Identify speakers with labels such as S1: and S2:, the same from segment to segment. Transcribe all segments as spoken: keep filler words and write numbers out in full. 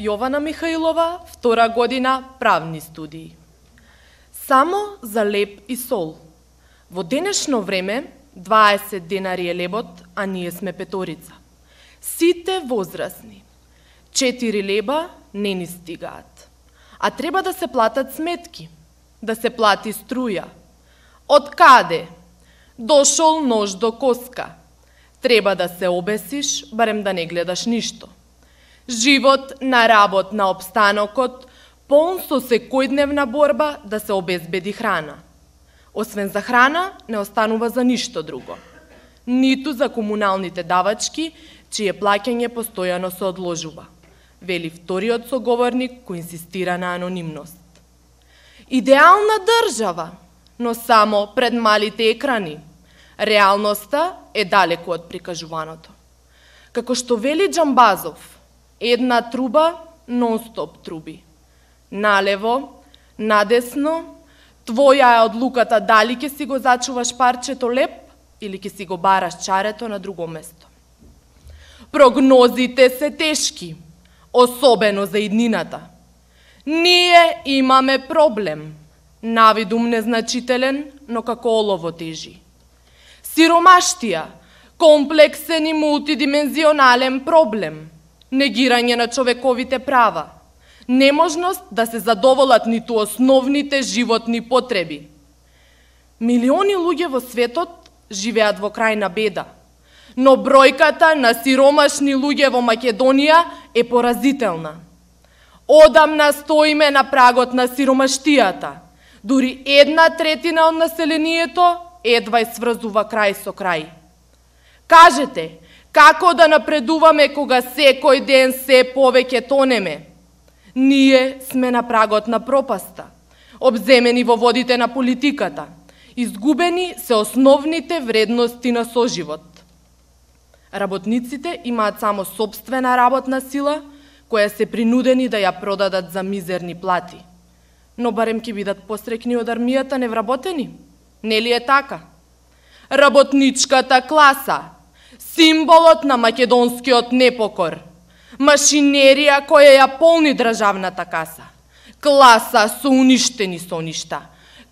S1: Јована Михаилова, втора година правни студии. Само за леб и сол. Во денешно време дваесет денари е лебот, а ние сме петорица. Сите возрастни. Четири леба не ни стигаат. А треба да се платат сметки, да се плати струја. Од каде? Дошол нож до коска. Треба да се обесиш, барем да не гледаш ништо. Живот на работ на обстанокот, полн со секојдневна борба да се обезбеди храна. Освен за храна, не останува за ништо друго. Ниту за комуналните давачки, чие плаќање постојано се одложува, вели вториот соговорник кој инсистира на анонимност. Идеална држава, но само пред малите екрани. Реалноста е далеку од прикажуваното. Како што вели Џамбазов, една труба нон-стоп труби. Налево, надесно, твоја е одлуката дали ќе си го зачуваш парчето леб или ќе си го бараш чарето на друго место. Прогнозите се тешки, особено за иднината. Ние имаме проблем, навидум незначителен, но како олово тежи. Сиромаштија, комплексен и мултидимензионален проблем, негирање на човековите права, неможност да се задоволат ниту основните животни потреби. Милиони луѓе во светот живеат во крајна беда, но бројката на сиромашни луѓе во Македонија е поразителна. Одамна стоиме на прагот на сиромаштијата. Дури една третина од населението едва сврзува крај со крај. Кажете, како да напредуваме кога секој ден се повеќе тонеме? Ние сме на прагот на пропаста, обземени во водите на политиката, изгубени се основните вредности на соживот. Работниците имаат само сопствена работна сила, која се принудени да ја продадат за мизерни плати. Но барем ќе бидат посрекни од армијата невработени? Нели е така? Работничката класа, символот на македонскиот непокор, машинерија која ја полни државната каса, класа со уништени соништа,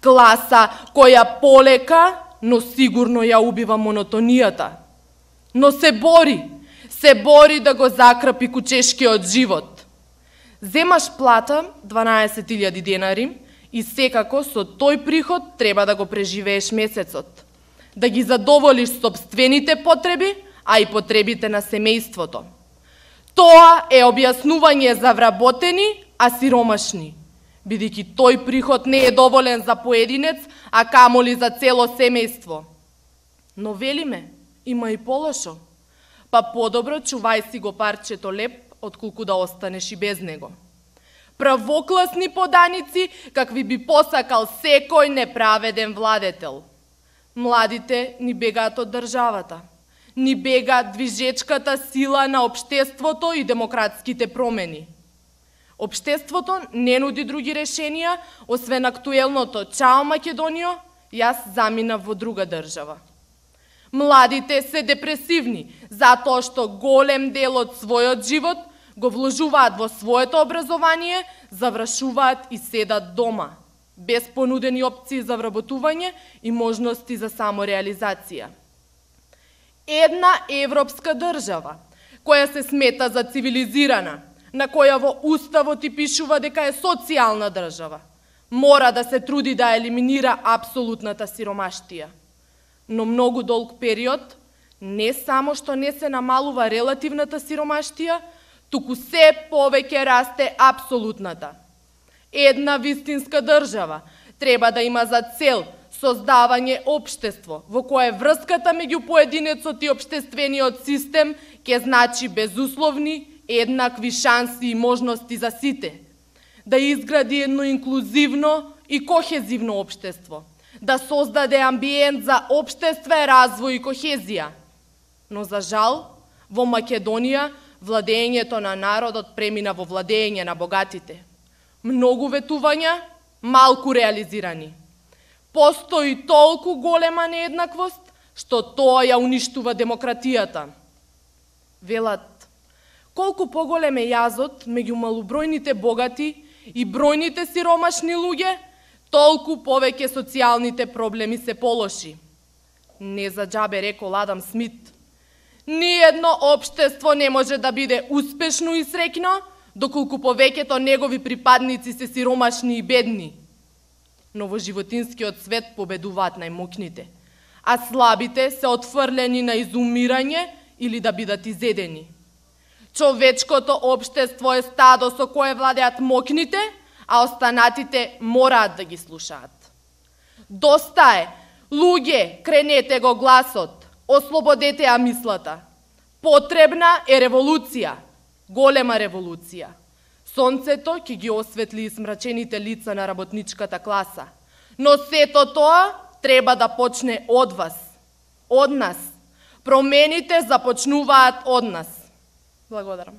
S1: класа која полека, но сигурно ја убива монотонијата. Но се бори, се бори да го закрпи кучешкиот живот. Земаш плата дванаесет илјади денари и секако со тој приход треба да го преживееш месецот, да ги задоволиш сопствените потреби, а и потребите на семејството. Тоа е објаснување за вработени, а сиромашни, бидејќи тој приход не е доволен за поединец, а камоли за цело семејство. Но велиме, има и полошо. Па подобро чувај си го парчето леб, отколку да останеш и без него. Правокласни поданици, какви би посакал секој неправеден владетел. Младите ни бегаат од државата. Ни бега движечката сила на општеството и демократските промени. Општеството не нуди други решенија, освен актуелното «Чао Македонијо», јас заминав во друга држава. Младите се депресивни, затоа што голем дел од својот живот го вложуваат во своето образование, завршуваат и седат дома, без понудени опции за вработување и можности за самореализација. Една европска држава, која се смета за цивилизирана, на која во уставот и пишува дека е социјална држава, мора да се труди да елиминира апсолутната сиромаштија. Но многу долг период не само што не се намалува релативната сиромаштија, туку се повеќе расте апсолутната. Една вистинска држава треба да има за цел создавање општество во кое врската меѓу поединецот и општествениот систем ќе значи безусловни, еднакви шанси и можности за сите, да изгради едно инклузивно и кохезивно општество, да создаде амбиент за општестве, развој и кохезија. Но за жал, во Македонија владењето на народот премина во владење на богатите. Многу ветувања, малку реализирани. Постои толку голема нееднаквост, што тоа ја уништува демократијата. Велат, колку поголем е јазот меѓу малобројните богати и бројните сиромашни луѓе, толку повеќе социјалните проблеми се полоши. Не за џабе рекол Адам Смит. Ниедно општество не може да биде успешно и среќно, доколку повеќето негови припадници се сиромашни и бедни. Но во животинскиот свет победуваат најмокните, а слабите се отфрлени на изумирање или да бидат изедени. Човечкото општество е стадо со кое владеат мокните, а останатите мораат да ги слушаат. Доста е! Луѓе, кренете го гласот, ослободете ја мислата. Потребна е револуција, голема револуција. Сонцето ќе ги осветли измрачените лица на работничката класа. Но сето тоа треба да почне од вас, од нас. Промените започнуваат од нас. Благодарам.